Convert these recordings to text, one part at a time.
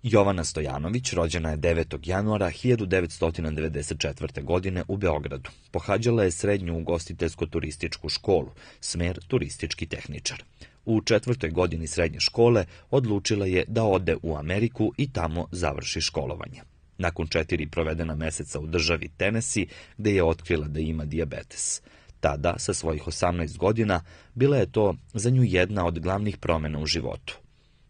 Jovana Stojanović rođena je 9. januara 1994. godine u Beogradu. Pohađala je srednju ugostiteljsko-turističku školu, smer turistički tehničar. U 4. godini srednje škole odlučila je da ode u Ameriku i tamo završi školovanje. Nakon 4 provedena meseca u državi Tennessee, gde je otkrila da ima dijabetes. Tada, sa svojih 18 godina, bila je to za nju jedna od glavnih promjena u životu.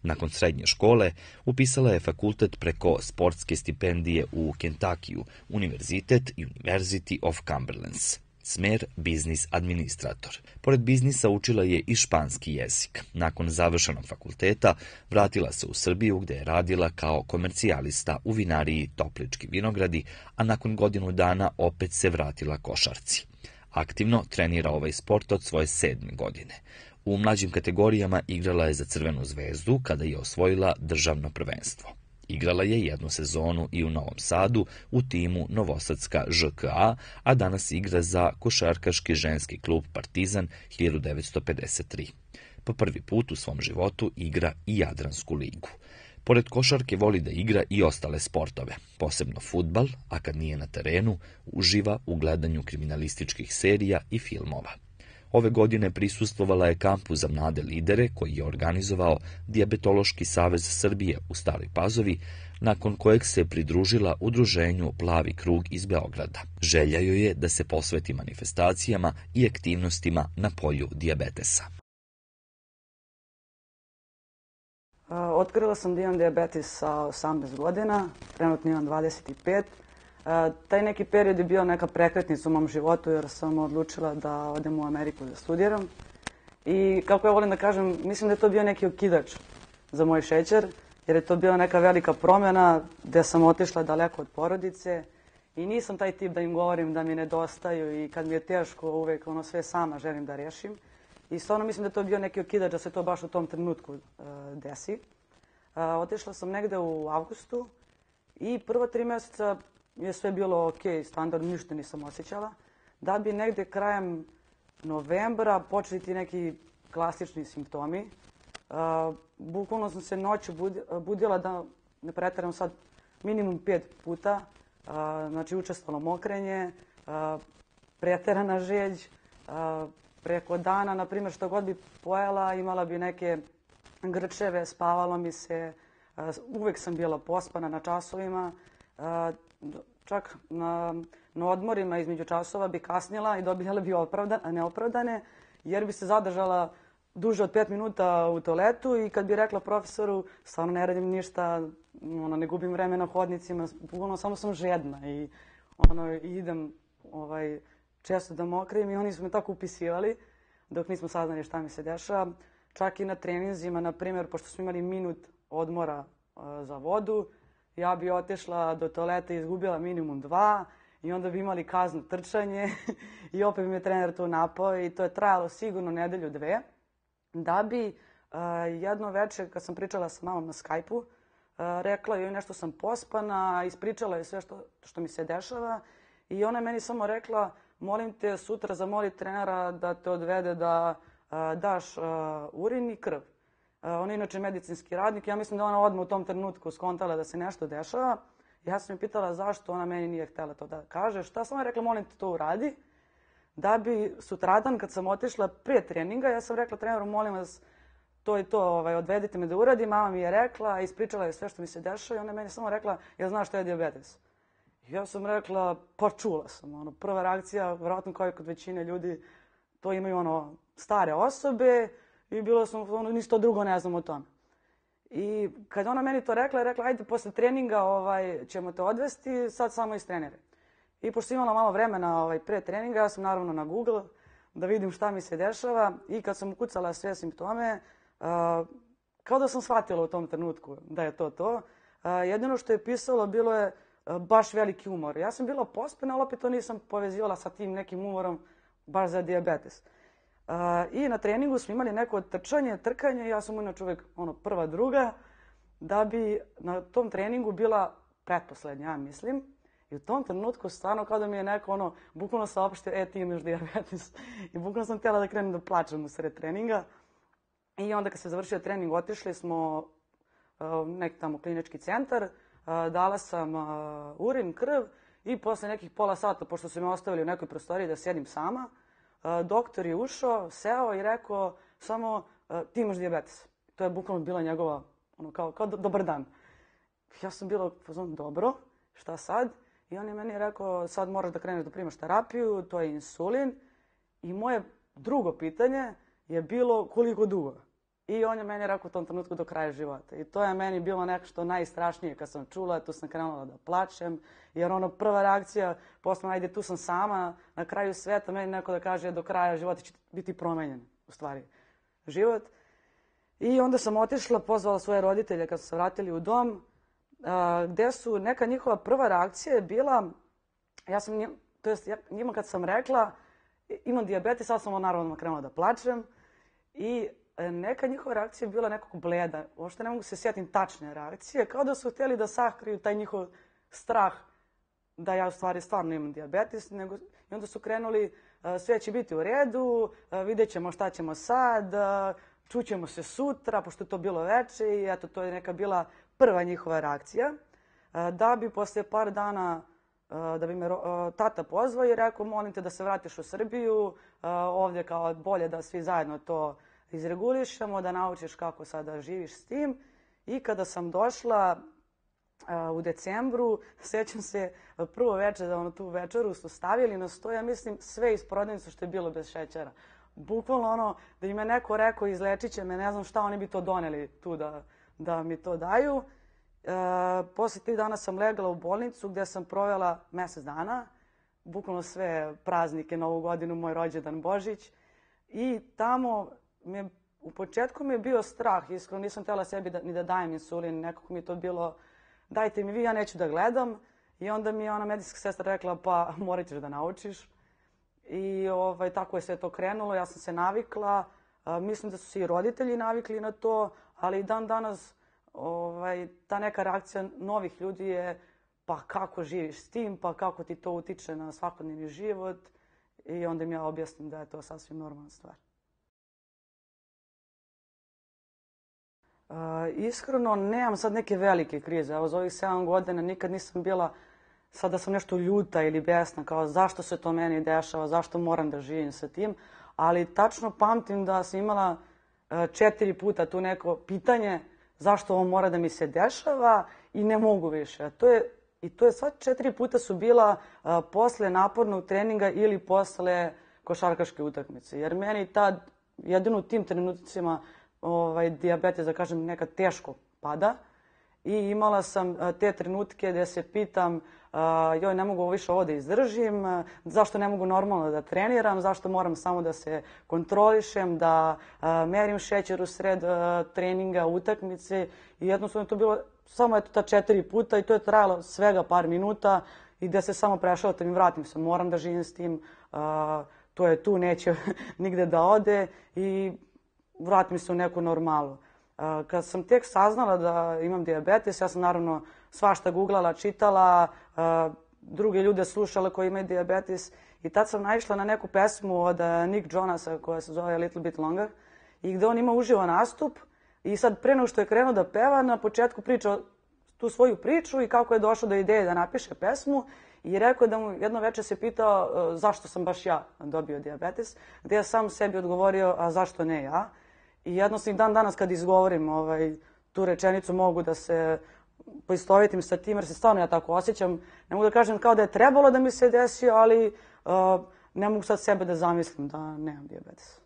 Nakon srednje škole upisala je fakultet preko sportske stipendije u Kentakiju, univerzitet University of Cumberland, smer biznis administrator. Pored biznisa učila je i španski jezik. Nakon završenog fakulteta vratila se u Srbiju gde je radila kao komercijalista u vinariji Toplički vinogradi, a nakon godinu dana opet se vratila košarci. Aktivno trenira ovaj sport od svoje 7. godine. U mlađim kategorijama igrala je za Crvenu zvezdu kada je osvojila državno prvenstvo. Igrala je jednu sezonu i u Novom Sadu u timu Novosadska ŽKA, a danas igra za košarkaški ženski klub Partizan 1953. Po prvi put u svom životu igra i Jadransku ligu. Pored košarke voli da igra i ostale sportove, posebno fudbal, a kad nije na terenu, uživa u gledanju kriminalističkih serija i filmova. Ove godine prisustvovala je kampu za mlade lidere koji je organizovao Dijabetološki savez Srbije u Staroj Pazovi, nakon kojeg se pridružila udruženju Plavi krug iz Beograda. Želja joj je da se posveti manifestacijama i aktivnostima na polju dijabetesa. Otkrila sam da imam dijabetes sa 18 godina, trenutno imam 25. Taj neki period je bio neka prekretnica u mom životu jer sam odlučila da odem u Ameriku da studiram. I kako ja volim da kažem, mislim da je to bio neki okidač za moj šećer, jer je to bila neka velika promjena gde sam otišla daleko od porodice i nisam taj tip da im govorim da mi nedostaju i kad mi je teško uvek sve sama želim da rešim. I stvarno mislim da je to bio neki okidač da se to baš u tom trenutku desi. Otišla sam negde u avgustu i prva 3 meseca je sve bilo ok, standardno, ništa nisam osjećala. Da bi negde krajem novembra počeli ti neki klasični simptomi. Bukvalno sam se noću budila, da ne preteram sad, minimum 5 puta. Znači učestvalo mokrenje, preterana žeđ, preko dana, na primjer, što god bi pojela, imala bi neke grčeve, spavalo mi se, uvek sam bila pospana na časovima, čak na odmorima između časova bi kasnila i dobijala bi neopravdane, jer bi se zadržala duže od 5 minuta u toaletu i kad bi rekla profesoru, stvarno ne radim ništa, ne gubim vreme na hodnicima, bukvalno samo sam žedna i idem često da mokrim i oni su me tako upisivali dok nismo saznali šta mi se dešava. Čak i na treninzima, na primjer, pošto smo imali minut odmora za vodu, ja bi otišla do toaleta i izgubila minimum 2 i onda bi imali kaznu trčanje i opet bi me trener tu napao i to je trajalo sigurno nedelju 2. Da bi jedno večer, kad sam pričala sa mamom na Skype-u, rekla joj nešto sam pospana, ispričala joj sve što mi se dešava i ona je meni samo rekla, molim te sutra zamoli trenera da te odvede da daš urin i krv. On je inače medicinski radnik. Ja mislim da ona odmah u tom trenutku skontala da se nešto dešava. Ja sam je pitala zašto ona meni nije htjela to da kaže. Šta sam rekla, molim te to uradi. Da bi sutradan kad sam otišla prije treninga, ja sam rekla treneru, molim vas to i to, odvedite me da uradim. Mama mi je rekla, ispričala je sve što mi se dešava i ona je meni samo rekla, ja znaš što je dijabetes. Ja sam rekla, pa čula sam. Prva reakcija, vjerojatno kao i kod većine ljudi, to imaju stare osobe i bilo sam, ništa drugo ne znam o tome. I kad ona meni to rekla, je rekla, ajde posle treninga ćemo te odvesti, sad samo istreniraj. I pošto imala malo vremena pre treninga, ja sam naravno na Google da vidim šta mi se dešava i kad sam ukucala sve simptome, kao da sam shvatila u tom trenutku da je to. Jedino što je pisalo bilo je baš veliki umor. Ja sam bila pospana, ali opet to nisam povezivala sa tim nekim umorom baš za dijabetes. I na treningu smo imali neko trkanje, ja sam inače uvek prva, druga, da bi na tom treningu bila pretposlednja, ja mislim. I u tom trenutku stvarno kao da mi je neko bukvalno saopštio, ti imaš dijabetes. I bukvalno sam htjela da krenem da plačem u sred treninga. I onda kad se završio trening, otišli smo neki tamo klinički centar, dala sam urin, krv i posle nekih pola sata, pošto su me ostavili u nekoj prostoriji da sjedim sama, doktor je ušao, seo i rekao samo ti imaš dijabetes. To je bukvalno bila njegova, kao dobar dan. Ja sam bila dobro, šta sad? I on je meni rekao, sad moraš da kreneš da primaš terapiju, to je insulin. I moje drugo pitanje je bilo koliko dugo. I on je meni rekao u tom trenutku do kraja života. I to je meni bilo nešto najstrašnije kad sam čula, tu sam krenula da plačem, jer prva reakcija, posle ajde tu sam sama, na kraju sveta, meni neko da kaže do kraja života će biti promenjen, u stvari, život. I onda sam otišla, pozvala svoje roditelje kad su se vratili u dom, gde su neka njihova prva reakcija je bila, njima kad sam rekla imam dijabetes, sad sam naravno krenula da plačem i neka njihova reakcija je bila nekako bleda. Uopšte ne mogu se sjetim tačne reakcije, kao da su htjeli da sakriju taj njihov strah da ja u stvari stvarno imam dijabetes. I onda su krenuli, sve će biti u redu, vidjet ćemo šta ćemo sad, čućemo se sutra, pošto je to bilo veče i eto, to je neka bila prva njihova reakcija. Da bi posle par dana, da bi me tata pozvao i rekao, molim te da se vratiš u Srbiju, ovdje kao bolje da svi zajedno to izregulišemo, da naučiš kako sada živiš s tim. I kada sam došla u decembru, sjećam se prvo večer, da tu večeru su stavili na sto, ja mislim sve iz prodavnice što je bilo bez šećera. Bukvalno da im je neko rekao izlečit će me, ne znam šta, oni bi to doneli tu da mi to daju. Posle 3 dana sam legla u bolnicu gdje sam provela mjesec dana, bukvalno sve praznike, Novu godinu, moj rođendan, Božić. I tamo u početku mi je bio strah, iskreno nisam htjela sebi ni da dajem insulin, nekako mi je to bilo dajte mi vi, ja neću da gledam. I onda mi je ona medicinska sestra rekla pa morat ćeš da naučiš. I tako je sve to krenulo, ja sam se navikla, mislim da su se i roditelji navikli na to, ali i dan danas ta neka reakcija novih ljudi je pa kako živiš s tim, pa kako ti to utiče na svakodnevni život i onda im ja objasnim da je to sasvim normalna stvar. Iskreno, nemam sad neke velike krize. Evo, za ovih 7 godina nikad nisam bila sad da sam nešto ljuta ili besna, kao zašto se to meni dešava, zašto moram da živim sa tim. Ali tačno pamtim da sam imala 4 puta tu neko pitanje zašto ovo mora da mi se dešava i ne mogu više. I to je sva 4 puta su bila posle napornog treninga ili posle košarkaške utakmice. Jer meni tad, jedino u tim trenucima, dijabetes, da kažem, nekad teško pada. I imala sam te trenutke gdje se pitam joj, ne mogu više ovo da izdržim, zašto ne mogu normalno da treniram, zašto moram samo da se kontrolišem, da merim šećer u sred treninga, utakmice. I jednostavno je to bilo samo ta 4 puta i to je trajalo svega par minuta i gdje se samo prešaltam i vratim se. Moram da živim s tim, to je tu, neće nigde da ode i vratim se u neku normalu. Kad sam tek saznala da imam dijabetes, ja sam naravno svašta googlala, čitala, druge ljude slušala koji imaju dijabetes i tad sam naišla na neku pesmu od Nick Jonasa koja se zove A Little Bit Longer i gde on ima uživo nastup i sad pre nego što je krenuo da peva, na početku priča tu svoju priču i kako je došao do ideje da napiše pesmu i rekao da mu jedno večer se pitao zašto sam baš ja dobio dijabetes, gde je sam sebi odgovorio a zašto ne ja. I jednostavno dan danas kad izgovorim tu rečenicu mogu da se poistovetim sa tim jer se stvarno ja tako osjećam. Ne mogu da kažem kao da je trebalo da mi se desi, ali ne mogu sad sebe da zamislim da nemam dijabetes.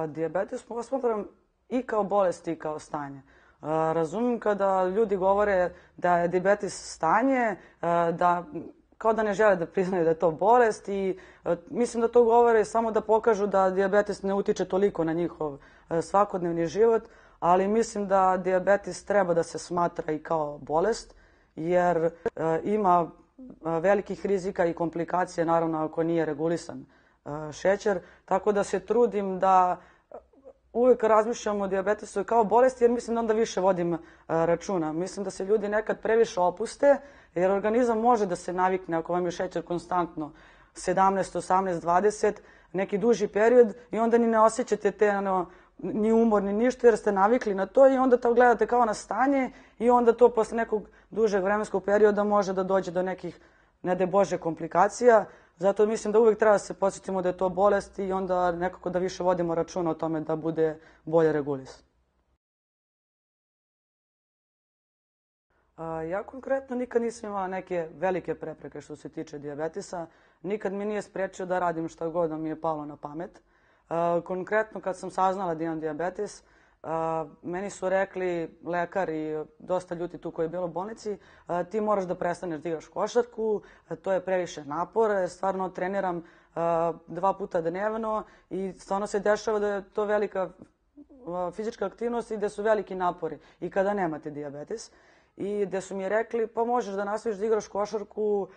Dijabetes posmatram i kao bolest i kao stanje. Razumim kada ljudi govore da je dijabetes stanje, kao da ne žele da priznaju da je to bolest i mislim da to govore samo da pokažu da dijabetes ne utiče toliko na njihov svakodnevni život, ali mislim da dijabetes treba da se smatra i kao bolest jer ima velikih rizika i komplikacije, naravno ako nije regulisan šećer, tako da se trudim da uvijek razmišljam o dijabetesu kao bolesti jer mislim da onda više vodim računa. Mislim da se ljudi nekad previše opuste jer organizam može da se navikne ako vam je šećer konstantno 17, 18, 20, neki duži period i onda ni ne osjećate te ni umor, ni ništa, jer ste navikli na to i onda to gledate kao na stanje i onda to posle nekog dužeg vremenskog perioda može da dođe do nekih, ne daj Bože, komplikacija. Zato mislim da uvek treba da se podsjetimo da je to bolest i onda nekako da više vodimo računa o tome da bude bolje regulisan. Ja konkretno nikad nisam imala neke velike prepreke što se tiče dijabetesa. Nikad mi nije sprečio da radim šta god da mi je palo na pamet. Konkretno kad sam saznala da imam dijabetes, meni su rekli lekar i dosta ljudi tu koji je bilo u bolnici, ti moraš da prestaneš da igraš košarku, to je previše napora, stvarno treniram 2 puta dnevno i stvarno se dešava da je to velika fizička aktivnost i da su veliki napori i kada nemate dijabetes. I gde su mi rekli pa možeš da nastaviš da igraš košarku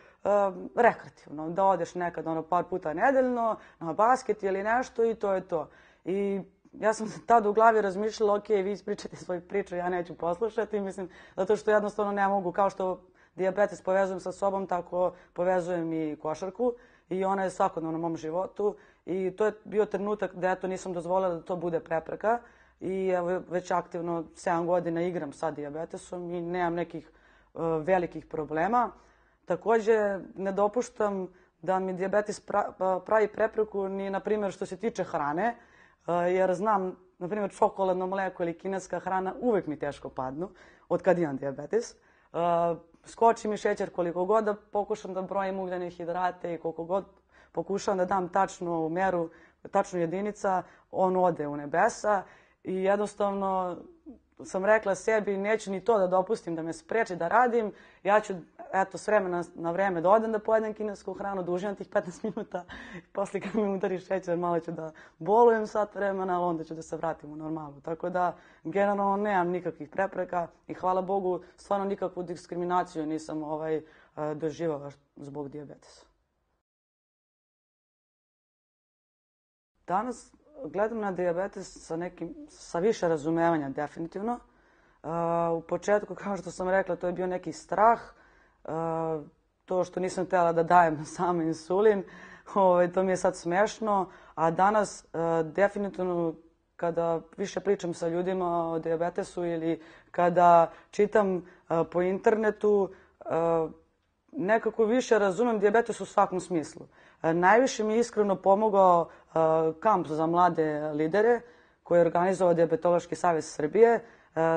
rekreativno, da odeš nekad par puta nedeljno na basket ili nešto i to je to. I ja sam tad u glavi razmišljala, ok, vi ispričate svoju priču, ja neću poslušati, mislim, zato što jednostavno ne mogu, kao što dijabetes povezujem sa sobom, tako povezujem i košarku i ona je svakodnevno u mom životu i to je bio trenutak da eto nisam dozvolila da to bude prepreka i evo već aktivno 7 godina igram sa dijabetesom i nemam nekih velikih problema. Takođe, ne dopuštam da mi dijabetes pravi prepreku ni, na primjer, što se tiče hrane, jer znam, na primjer, čokoladno mleko ili kineska hrana uvek mi teško padnu od kad imam dijabetes. Skoči mi šećer koliko god da pokušam da brojim ugljene hidrate i koliko god pokušam da dam tačnu meru, tačnu jedinica, on ode u nebesa i jednostavno sam rekla sebi neću ni to da dopustim da me spreči da radim, ja ću eto s vremena na vreme da odem da pojedem kinesku hranu, da uživam tih 15 minuta, posle kad mi udari šećer malo ću da bolujem sat vremena, ali onda ću da se vratim u normalu. Tako da generalno nemam nikakvih prepreka i hvala Bogu stvarno nikakvu diskriminaciju nisam doživjela zbog dijabetesa. Danas gledam na dijabetes sa više razumevanja definitivno. U početku, kao što sam rekla, to je bio neki strah. To što nisam htjela da dajem sam insulin, to mi je sad smešno. A danas definitivno kada više pričam sa ljudima o dijabetesu ili kada čitam po internetu, nekako više razumem dijabetes u svakom smislu. Najviše mi je iskreno pomogao kamp za mlade lidere koji je organizovao Dijabetološki savez Srbije,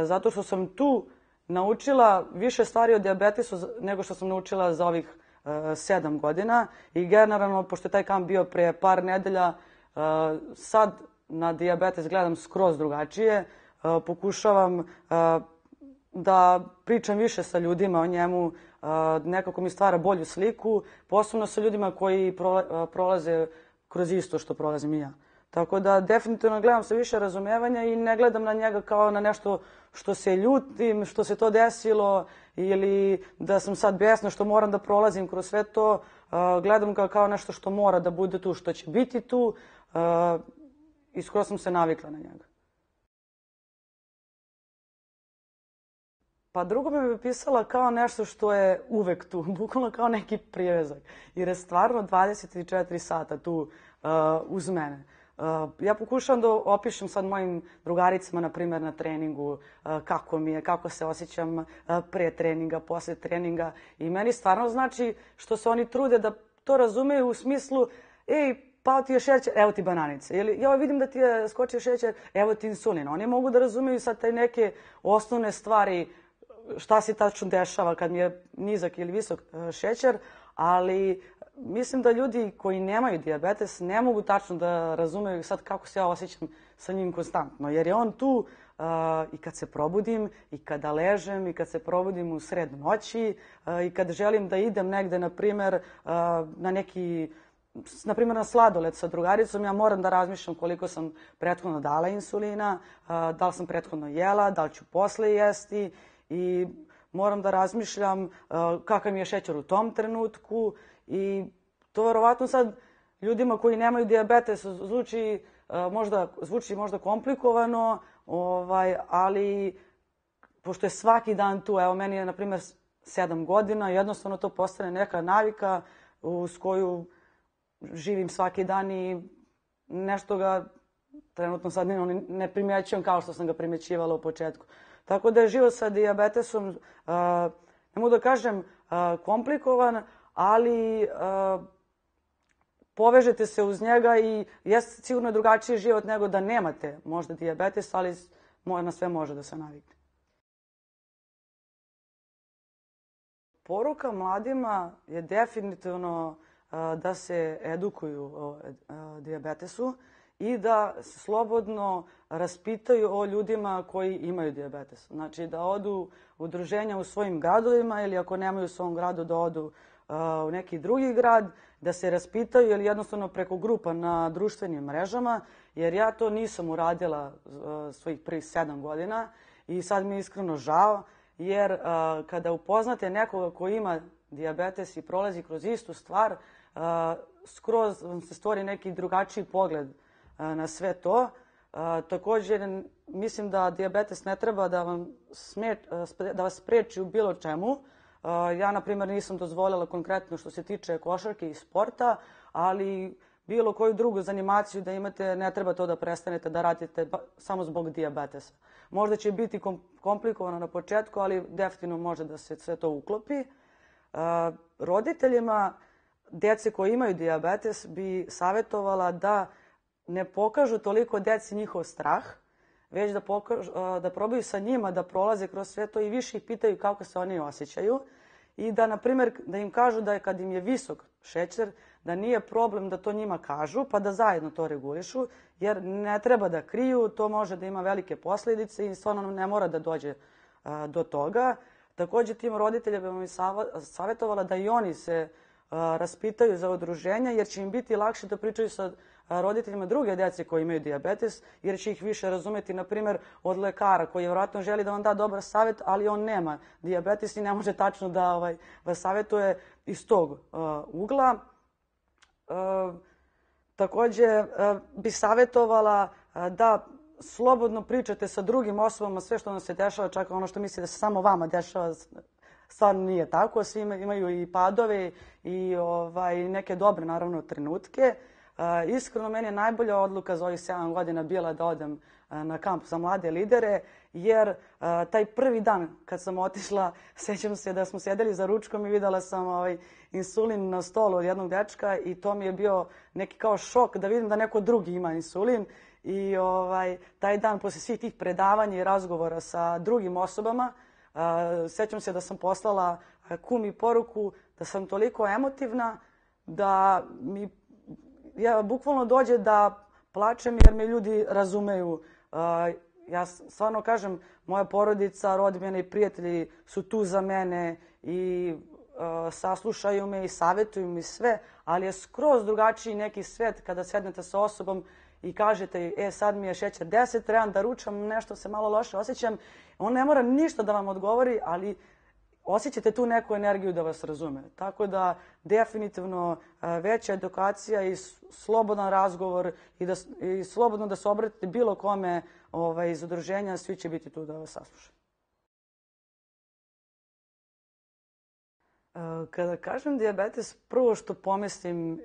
zato što sam tu naučila više stvari o dijabetesu nego što sam naučila za ovih 7 godina i generalno, pošto je taj kamp bio pre par nedelja, sad na dijabetes gledam skroz drugačije, pokušavam da pričam više sa ljudima o njemu, nekako mi stvara bolju sliku, posebno sa ljudima koji prolaze kroz isto što prolazim i ja. Tako da definitivno gledam sa više razumevanja i ne gledam na njega kao na nešto što se ljutim, što se to desilo ili da sam sad besna što moram da prolazim kroz sve to. Gledam ga kao nešto što mora da bude tu, što će biti tu i skoro sam se navikla na njega. Pa drugo bi pisala kao nešto što je uvek tu, bukvalno kao neki privezak, jer je stvarno 24 sata tu uz mene. Ja pokušavam da opišem sad mojim drugaricama, na primjer, na treningu, kako mi je, kako se osjećam pre treninga, posle treninga i meni stvarno znači što se oni trude da to razumeju u smislu, pao ti je šećer, evo ti bananice. Ili ja vidim da ti je skočio šećer, evo ti insulin. Oni mogu da razumeju sad te neke osnovne stvari, šta se tačno dešava kad mi je nizak ili visok šećer, ali mislim da ljudi koji nemaju dijabetes ne mogu tačno da razumeju sad kako se ja osjećam sa njim konstantno, jer je on tu i kad se probudim, i kada ležem, i kad se probudim u sred noći, i kad želim da idem negde, na primjer, na sladoled sa drugaricom, ja moram da razmišljam koliko sam prethodno dala insulina, da li sam prethodno jela, da li ću posle jesti i moram da razmišljam kakav mi je šećer u tom trenutku i to verovatno sad ljudima koji nemaju dijabetes zvuči možda komplikovano, ali pošto je svaki dan tu, evo meni je na primjer 7 godina, jednostavno to postane neka navika uz koju živim svaki dan i nešto ga trenutno sad ne primjećujem kao što sam ga primjećivala u početku. Tako da je život sa dijabetesom, ne mogu da kažem komplikovan, ali povežete se uz njega i jeste sigurno drugačiji život nego da nemate možda dijabetes, ali na sve može da se navikne. Poruka mladima je definitivno da se edukuju o dijabetesu i da se slobodno raspitaju o ljudima koji imaju dijabetes. Znači da odu u udruženja u svojim gradovima ili ako nemaju u svom gradu da odu u neki drugi grad, da se raspitaju ili jednostavno preko grupa na društvenim mrežama, jer ja to nisam uradila svojih prvih 7 godina i sad mi je iskreno žao, jer kada upoznate nekoga ko ima dijabetes i prolazi kroz istu stvar, skroz vam se stvori neki drugačiji pogled na sve to. Također, mislim da dijabetes ne treba da vas spreči u bilo čemu. Ja, na primjer, nisam dozvolila konkretno što se tiče košarke i sporta, ali bilo koju drugu zanimaciju da imate, ne treba to da prestanete da radite samo zbog dijabetesa. Možda će biti komplikovano na početku, ali definitivno može da se sve to uklopi. Roditeljima djece koji imaju dijabetes bi savjetovala da ne pokažu toliko djeci njihov strah, već da probaju sa njima da prolaze kroz sve to i više ih pitaju kako se oni osjećaju i da, na primjer, da im kažu da kad im je visok šećer, da nije problem da to njima kažu, pa da zajedno to regulišu, jer ne treba da kriju, to može da ima velike posljedice i stvarno ne mora da dođe do toga. Također tim roditeljima bi mi savjetovala da i oni se raspitaju za udruženja, jer će im biti lakše da pričaju sa roditeljima druge djece koji imaju dijabetes, jer će ih više razumjeti, na primjer, od lekara koji vjerojatno želi da vam da dobar savjet, ali on nema dijabetes i ne može tačno da vas savjetuje iz tog ugla. Također bi savjetovala da slobodno pričate sa drugim osobama sve što vam se dešava, čak ono što misli da se samo vama dešava, stvarno nije tako. Svi imaju i padove i neke dobre, naravno, trenutke. Iskreno, meni je najbolja odluka za ovih 7 godina bila da odem na kamp za mlade lidere, jer taj prvi dan kad sam otišla, sjećam se da smo sjedeli za ručkom i videla sam insulin na stolu od jednog dečka i to mi je bio neki kao šok da vidim da neko drugi ima insulin. I taj dan, poslije svih tih predavanja i razgovora sa drugim osobama, sjećam se da sam poslala kumi poruku da sam toliko emotivna da mi bukvalno dođe da plačem jer me ljudi razumeju. Ja stvarno kažem, moja porodica, rodbina i prijatelji su tu za mene i saslušaju me i savjetuju mi sve, ali je skroz drugačiji neki svet kada sednete sa osobom i kažete, sad mi je šećer 10, trebam da ručam, nešto se malo loše osjećam. On ne mora ništa da vam odgovori, ali osjećate tu neku energiju da vas razume. Tako da definitivno veća edukacija i slobodan razgovor i slobodno da se obratite bilo kome iz udruženja, svi će biti tu da vas saslušaju. Kada kažem dijabetes, prvo što pomislim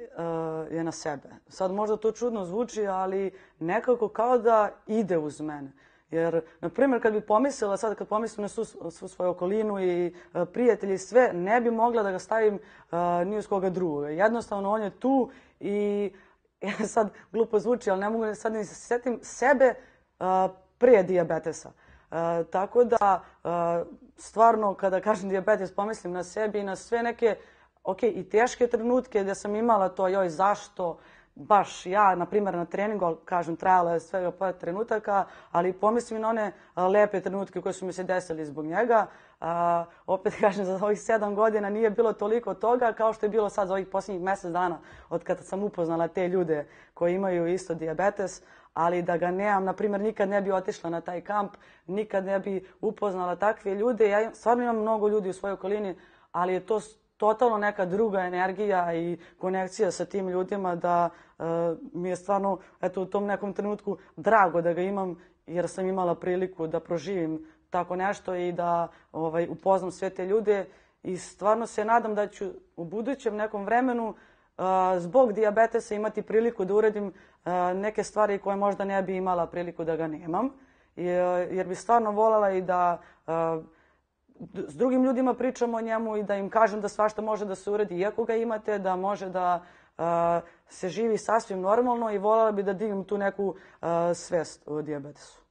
je na sebe. Sad možda to čudno zvuči, ali nekako kao da ide uz mene. Jer, na primjer, kad bi pomislila, sad kad pomislim na svu svoju okolinu i prijatelji i sve, ne bi mogla da ga stavim ni uz koga drugoga. Jednostavno, on je tu i sad glupo zvuči, ali ne mogu sad ni se sjetim sebe prije dijabetesa. Tako da, stvarno, kada kažem dijabetes, pomislim na sebi i na sve neke, i teške trenutke gdje sam imala to, joj, zašto, baš ja, na primjer, na treningu, kažem, trajala je svega par trenutaka, ali pomislim na one lepe trenutke koje su mi se desili zbog njega. Opet kažem, za ovih 7 godina nije bilo toliko toga kao što je bilo sad za ovih posljednjih mjesec dana od kada sam upoznala te ljude koji imaju isto dijabetes, ali da ga nemam, na primjer, nikad ne bi otišla na taj kamp, nikad ne bi upoznala takve ljude. Ja stvarno imam mnogo ljudi u svojoj okolini, ali je to totalno neka druga energija i konekcija sa tim ljudima da mi je stvarno u tom nekom trenutku drago da ga imam, jer sam imala priliku da proživim tako nešto i da upoznam sve te ljude i stvarno se nadam da ću u budućem nekom vremenu zbog dijabetesa imati priliku da uradim neke stvari koje možda ne bi imala priliku da ga nemam. Jer bi stvarno voljela i da s drugim ljudima pričam o njemu i da im kažem da svašta može da se uradi iako ga imate, da može da se živi sasvim normalno i voljela bi da dignem tu neku svest o dijabetesu.